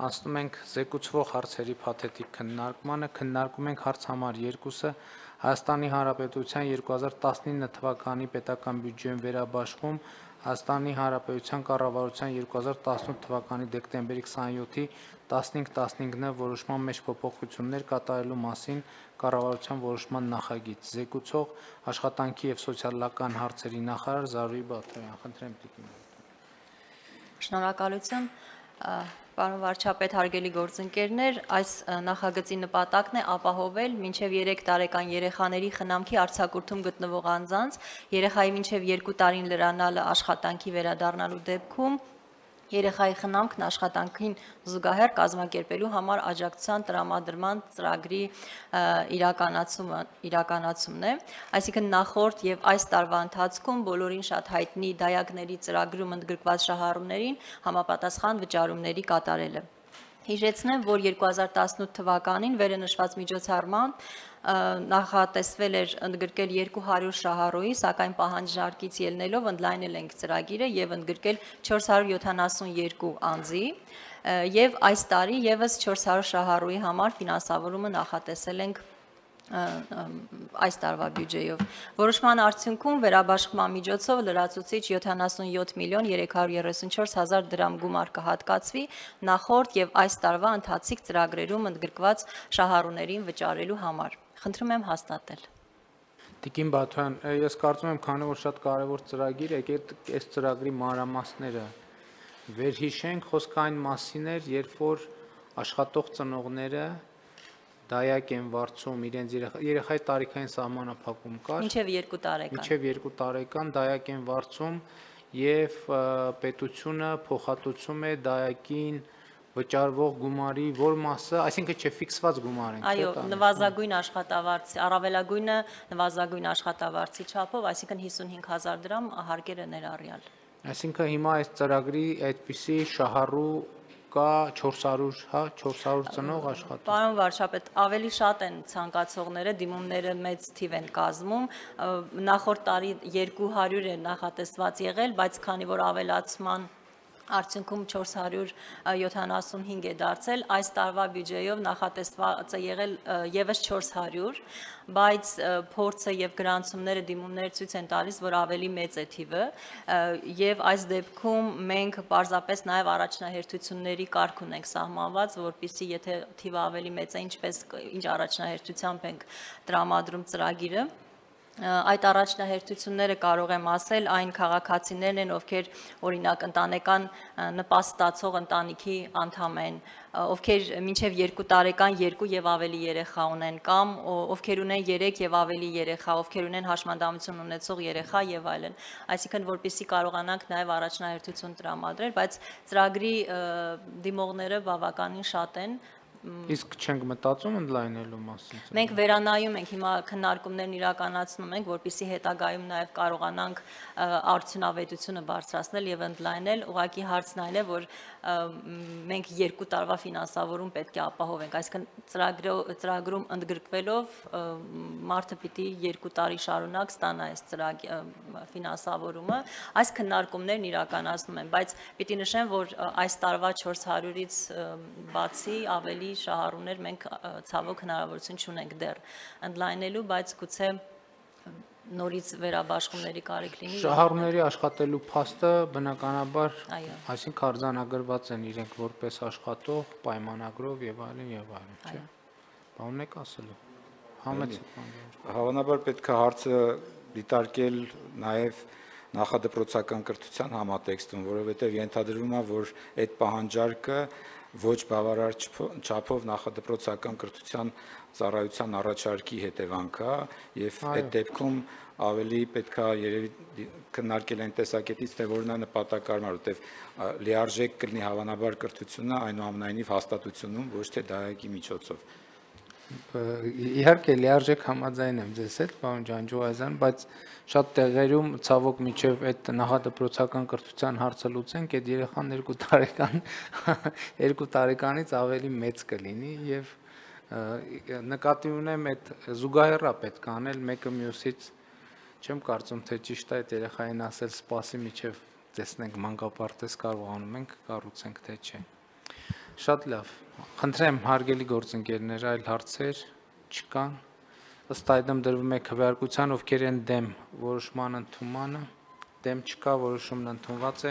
Անցնում ենք զեկուցվող հարցերի փաթեթիկ քննարկմանը, քննարկում ենք հարց համար 2-ը Հայաստանի Հանրապետության 2019 թվականի պետական բյուջեում վերաբաշխում Հայաստանի Հանրապետության կառավարության 2018 թվականի դեկտեմբերի 27-ի 15-15-ն որոշման մեջ փոփոխություններ կատարելու մասին կառավարության որոշման նախագիծ։ Զեկուցող աշխատանքի և սոցիալական հարցերի նախարար Զարուհի Բաթոյան, խնդրեմ տիկին։ Շնորհակալություն, պարոն վարչապետ, հարգելի գործընկերներ, այս նախագծի նպատակն է ապահովել մինչև 3 տարեկան երեխաների խնամքի արձակուրդում գտնվող անձանց երեխայի մինչև 2 տարին լրանալը աշխատանքի վերադառնալու դեպքում երեխայի խնամքն աշխատանքին զուգահեռ կազմակերպելու համար աջակցության տրամադրման ծրագրի իրականացումն է, այսինքն նախորդ եւ այս տարվա ընթացքում բոլորին շատ հայտնի դայակների ծրագրում ընդգրկված շահառուներին համապատասխան վճարումների կատարելը։ Հիշեցնեմ, որ 2018 թվականին վերընշված միջոցառմամբ նախատեսվել էր ընդգրկել 200 շահառուի, սակայն պահանջարկից ելնելով ընդլայնել ենք ծրագիրը եւ ընդգրկել 472 անձի եւ այս տարի եւս 400 շահառուի համար ֆինանսավորումը նախատեսել ենք այս տարվա բյուջեով։ Որոշման արդյունքում վերաբաշխման միջոցով լրացուցիչ 77 միլիոն 334 հազար դրամ գումար կհատկացվի նախորդ եւ այս տարվա ընթացիկ ծրագրերում ընդգրկված շահառուներին վճարելու համար։ Խնդրում եմ հաստատել։ Տիկին Բաթոյան, ես կարծում եմ, քանի որ շատ կարևոր ծրագիր է, եկեք այս ծրագրի մանրամասները վերհիշենք, խոսքը այն մասին էր, երբ որ աշխատող ծնողները դայակ են վարձում իրենց երեխայի տարիքային սահմանափակում կար, մինչև 2 տարեկան դայակ են վարձում եւ պետությունը փոխհատուցում է դայակին վճարվող գումարի որ մասը, այսինքն չէ ֆիքսված գումար են։ Այո, նվազագույն աշխատավարձի, առավելագույնը նվազագույն աշխատավարձի չափով, այսինքն 55,000 դրամ հարկերը ներառյալ։ Այսինքն հիմա այս ծրագրի այդպիսի շահառու կա 400 ծնող աշխատող։ Պարոն վարչապետ, ավելի շատ են ցանկացողները, դիմումները մեծ թիվ են կազմում, նախորդ տարի 200 է նախատեսված եղել, բայց քանի որ ավելացման արդյունքում 475 է դարձել, այս տարվա բյուջեով նախատեսված է եղել եւս 400, բայց փորձը եւ գրանցումները դիմումները ցույց են տալիս, որ ավելի մեծ է թիվը եւ այս դեպքում մենք պարզապես նաեւ առաջնահերթությունների կարգ ունենք սահմանված, որպեսզի եթե թիվը ավելի մեծ է, ինչ առաջնահերթությամբ ենք տրամադրում ծրագիրը, այդ առաջնահերթությունները կարող եմ ասել այն քաղաքացիներն են, ովքեր օրինակ ընտանեկան նպաստ ստացող ընտանիքի անդամ են, ովքեր մինչև 2 տարեկան 2 եւ ավելի երեխա ունեն կամ ովքեր ունեն 3 եւ ավելի երեխա, ովքեր ունեն հաշմանդամություն ունեցող երեխա եւ այլն, այսինքն որպեսզի կարողանանք նաեւ առաջնահերթություն տրամադրել, բայց ծրագրի դիմողները բավականին շատ են։ Իսկ չենք մտածում ընդլայնելու մասին։ Մենք վերանայում ենք, հիմա քննարկումներն իրականացնում ենք, որպեսզի հետագայում նաև կարողանանք արդյունավետությունը բարձրացնել եւ ընդլայնել, ուղղակի հարցն այն է, որ մենք 2 տարվա ֆինանսավորում պետք է ապահովենք, այսինքն ծրագրում ընդգրկվելով մարդը պիտի 2 տարի շարունակ ստանա այս ֆինանսավորումը, այս քննարկումներն իրականացնում են, բայց պիտի նշեմ, որ այս տարվա 400-ից բացի ավելի շահառուներ մենք ցավոք հնարավորություն չունենք դեռ ընդլայնելու, բայց գուցե նորից վերաբաշխումների կարիք լինի։ Շահառուների աշխատելու փաստը բնականաբար, այսինքն արձանագրված են իրենք որպես աշխատող, պայմանագրով եւ այլն եւ այլն, չէ՞։ Բանն եք ասելու։ Հավանաբար պետք է հարցը դիտարկել նաեւ նախադպրոցական կրթության համատեքստում, որովհետեւ ենթադրվում է, որ այդ պահանջարկը ոչ բավարար չափով նախադպրոցական կրթության ծառայության առաջարկի հետևանք է եւ այդ դեպքում ավելի պետք է երևի քննարկել այն տեսակետից, թե որն է նպատակարար, որովհետեւ լիարժեք կլինի հավանաբար կրթությունը այնուամենայնիվ հաստատությունում, ոչ թե դայակի միջոցով։ Իհարկե լիարժեք համաձայն եմ ձեզ հետ, պարոն Ջանջուազյան, բայց շատ տեղերում ցավոք միջև այդ նախադպրոցական կրթության հարցը լուծենք, այդ երեխան 2 տարեկանից ավելի մեծ կլինի եւ նկատի ունեմ այդ զուգահեռ պետք է անել մեկը մյուսից, չեմ կարծում թե ճիշտ է այդ երեխային ասել սպասի միջև տեսնենք մանկապարտեզ կարողանում ենք կառուցենք թե չէ։ Շատ լավ։ Խնդրեմ հարգելի գործընկերներ, այլ հարցեր չկան։ Ըստ այդմ դրվում է քվեարկության, ովքեր են դեմ որոշման ընդունմանը, դեմ չկա, որոշումն ընդունված է։